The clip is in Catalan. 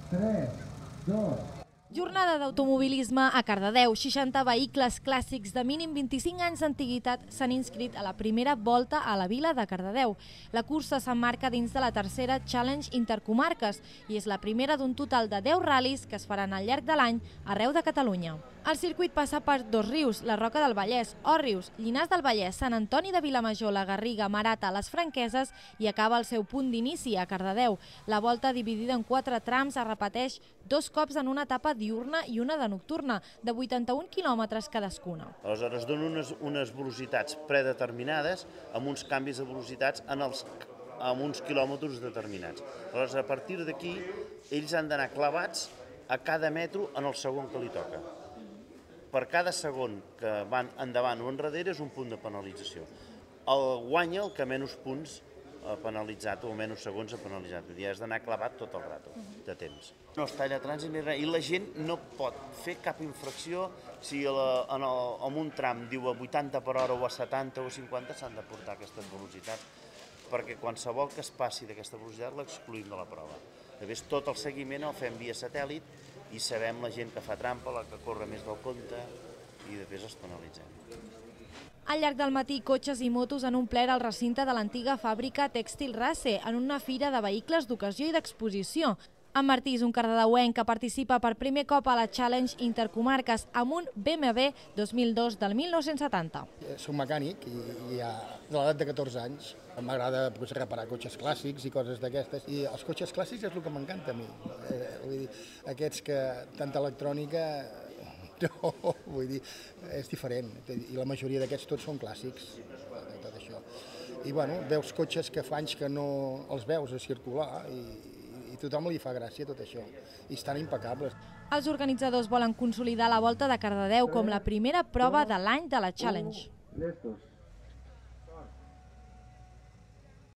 3, 2... Jornada d'automobilisme a Cardedeu. 60 vehicles clàssics de mínim 25 anys d'antiguitat s'han inscrit a la primera volta a la vila de Cardedeu. La cursa s'emmarca dins de la tercera Challenge Intercomarques i és la primera d'un total de 10 ral·lis que es faran al llarg de l'any arreu de Catalunya. El circuit passa per Dosrius, la Roca del Vallès, Òrrius, Llinars del Vallès, Sant Antoni de Vilamajor, la Garriga, Marata, les Franqueses i acaba el seu punt d'inici a Cardedeu. La volta, dividida en 4 trams, es repeteix 2 cops en una etapa diurna i una de nocturna, de 81 quilòmetres cadascuna. Aleshores donen unes velocitats predeterminades amb uns canvis de velocitats en uns quilòmetres determinats. Aleshores, a partir d'aquí, ells han d'anar clavats a cada metro en el segon que li toca. Per cada segon que van endavant o enrere és un punt de penalització. Guanya el que menys punts ha penalitzat o menys segons ha penalitzat. Vull dir, has d'anar clavat tot el rato de temps. No es talla trànsit ni res, i la gent no pot fer cap infracció si en un tram diu a 80 per hora o a 70 o a 50 s'han de portar aquestes velocitats, perquè qualsevol que es passi d'aquesta velocitat l'excluïm de la prova. Després tot el seguiment el fem via satèl·lit i sabem la gent que fa trampa, la que corre més del compte, i després els penalitzem. Al llarg del matí, cotxes i motos han omplert el recinte de l'antiga fàbrica Tèxtil Race en una fira de vehicles d'ocasió i d'exposició. En Martí és un cardedeuenc que participa per primer cop a la Challenge Intercomarques amb un BMW 2002 del 1970. Soc mecànic i de l'edat de 14 anys m'agrada reparar cotxes clàssics i coses d'aquestes. I els cotxes clàssics és el que m'encanta a mi. Vull dir, aquests que tanta electrònica... No, vull dir, és diferent. I la majoria d'aquests tots són clàssics, tot això. I bueno, veus cotxes que fa anys que no els veus a circular i tothom li fa gràcia tot això. I estan impecables. Els organitzadors volen consolidar la Volta de Cardedeu com la primera prova de l'any de la Challenge.